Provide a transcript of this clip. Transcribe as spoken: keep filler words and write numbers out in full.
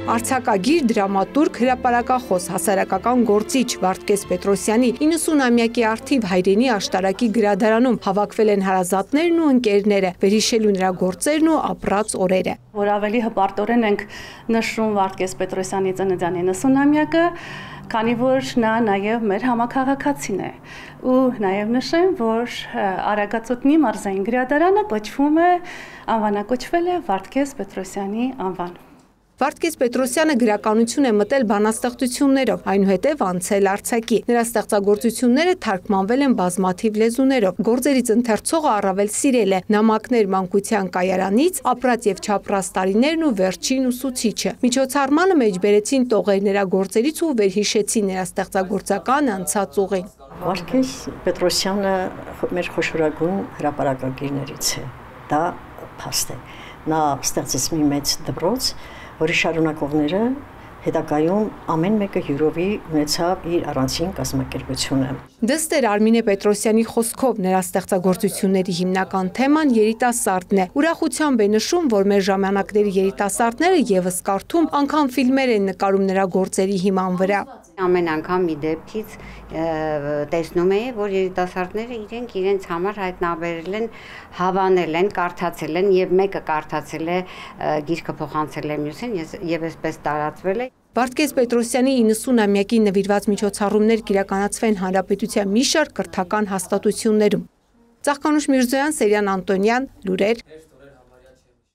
Արձակագիր, դրամատուրգ, հրապարակախոս, հասարակական գործիչ Վարդգես Պետրոսյանի իննսունամյակի առթիվ հայրենի աշտարակի գրադարանում հավաքվել են հարազատներն ու ընկերները, վերհիշելու նրա գործերն ու ապրած օրերը։ Որ ավելի հպարտորեն ենք նշում Վարդգես Պետրոսյանի ծննդյան իննսունամյակը, քանի որ նա նաև մեր համաքաղաքացին է, ու նաև նշեմ, որ Արագածոտնի մարզային գրադարանը կոչվում է, անվանակոչվել է Վարդգես Պետրոսյանի անվան։ Վարդգես Պետրոսյանը գրականություն է մտել բանաստեղծություններով, այնուհետև անցել արձակի։ Նրա ստեղծագործությունները թարգմանվել են բազմաթիվ լեզուներով։ Գործերից ընթերցողը առավել սիրել է նամակներ մանկության կայարանից, ապրած եւ չապրած տարիներն ու վերջին ուսուցիչը։ Միջոցառմանը մեջ բերեցին տողեր նրա գործերից ու վերհիշեցին նրա ստեղծագործական անցած ուղին։ Վարդգես Պետրոսյանը մեր խոշորագույն հրապարակագիրներից է։ Դա փաստ է։ Նա ստեղծեց մի մեծ դպրոց, որի շարունակողները հետագայում ամեն մեկը յուրովի ունեցավ իր առանձին կազմակերպությունը։ Դստեր Արմինե Պետրոսյանի խոսքով նրա ստեղծագործությունների հիմնական թեման երիտասարդն է։ Ուրախությամբ է նշում, որ մեր ժամանակների երիտասարդները եւս կարդում, անգամ ֆիլմեր են նկարում նրա գործերի հիման վրա։ Ամեն անգամ մի դեպքից տեսնում էի, որ երիտասարդները իրենք իրենց համար հայտնաբերել են, հավանել են, կարդացել են եւ մեկը կարդացել է գիրքը փոխանցել է մյուսին եւ այսպես տարածվել է։ Վարդգես Պետրոսյանի իննսունամյակի նվիրված միջոցառումներ կիրականացվեն հանրապետության մի շարք կրթական հաստատություններում։ Ծաղկանուշ Միրզոյան, Սերյան Անտոնյան, լուրեր։